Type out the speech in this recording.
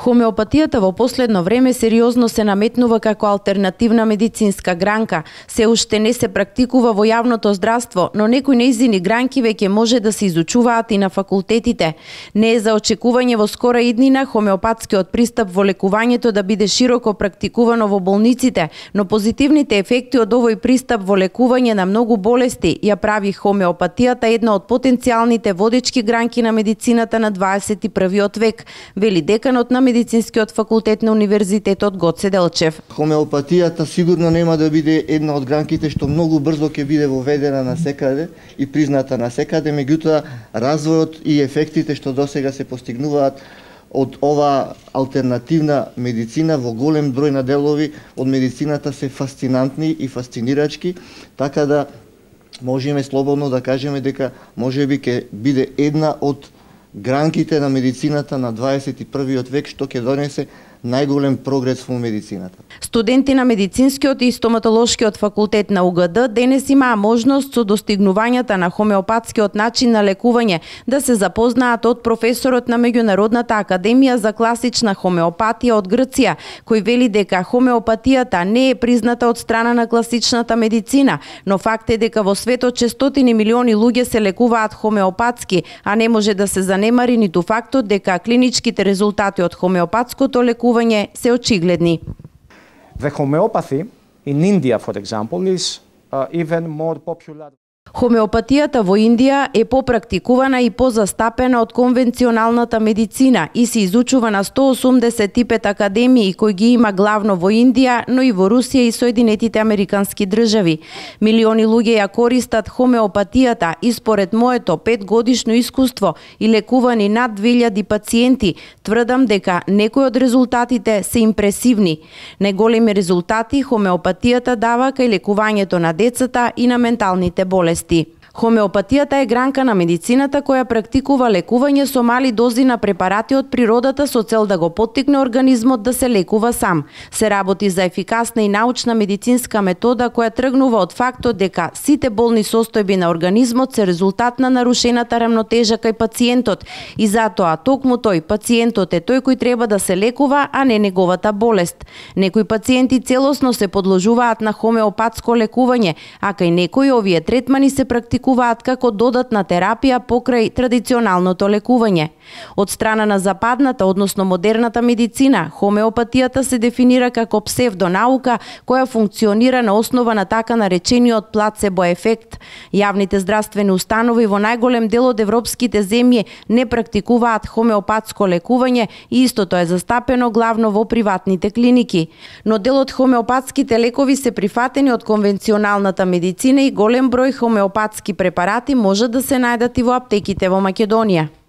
Хомеопатијата во последно време сериозно се наметнува како алтернативна медицинска гранка. Се уште не се практикува во јавното здравство, но некои нејзини гранки веќе може да се изучуваат и на факултетите. Не е за очекување во скора иднина хомеопатскиот пристап во лекувањето да биде широко практикувано во болниците, но позитивните ефекти од овој пристап во лекување на многу болести ја прави хомеопатијата една од потенцијалните водечки гранки на медицината на 21 век, вели деканот на Медицинскиот факултет на Универзитетот Гоце Делчев. Хомеопатијата сигурно нема да биде една од гранките што многу брзо ќе биде воведена на секаде и призната на секаде, меѓутоа развојот и ефектите што досега се постигнуваат од ова алтернативна медицина во голем број на делови од медицината се фасцинантни и фасцинирачки, така да можеме слободно да кажеме дека можеби ќе биде една од гранките на медицината на 21 век што ќе донесе најголем прогрес во медицината. Студенти на Медицинскиот и Стоматолошкиот факултет на УГД денес имаа можност со достигнувањата на хомеопатскиот начин на лекување да се запознаат од професорот на Меѓународната академија за класична хомеопатија од Грција, кој вели дека хомеопатијата не е призната од страна на класичната медицина, но факт е дека во светот 600 милиони луѓе се лекуваат хомеопатски, а не може да се занемари ниту фактот дека клиничките резултати од хомеопатското лекување се очигледни. The homeopathy in India, for example, is even more popular. Хомеопатијата во Индија е попрактикувана и позастапена од конвенционалната медицина и се изучува на 185 академии кои ги има главно во Индија, но и во Русија и Соединетите Американски држави. Милиони луѓе ја користат хомеопатијата и според моето 5-годишно искуство и лекувани над 2000 пациенти, тврдам дека некои од резултатите се импресивни. Најголеми резултати хомеопатијата дава кај лекувањето на децата и на менталните болести. Хомеопатијата е гранка на медицината која практикува лекување со мали дози на препарати од природата со цел да го поттикне организмот да се лекува сам. Се работи за ефикасна и научна медицинска метода која тргнува од фактот дека сите болни состојби на организмот се резултат на нарушената рамнотежа кај пациентот и затоа токму тој пациентот е тој кој треба да се лекува, а не неговата болест. Некои пациенти целосно се подложуваат на хомеопатско лекување, а кај некои овие третмани се практикуваат како додатна терапија покрај традиционалното лекување. Од страна на западната, односно модерната медицина, хомеопатијата се дефинира како псевдонаука која функционира на основа на така наречениот плацебо ефект. Јавните здравствени установи во најголем дел од европските земји не практикуваат хомеопатско лекување и истото е застапено главно во приватните клиники. Но дел од хомеопатските лекови се прифатени од конвенционалната медицина и голем број хомеопатски препарати можат да се најдат и во аптеките во Македонија.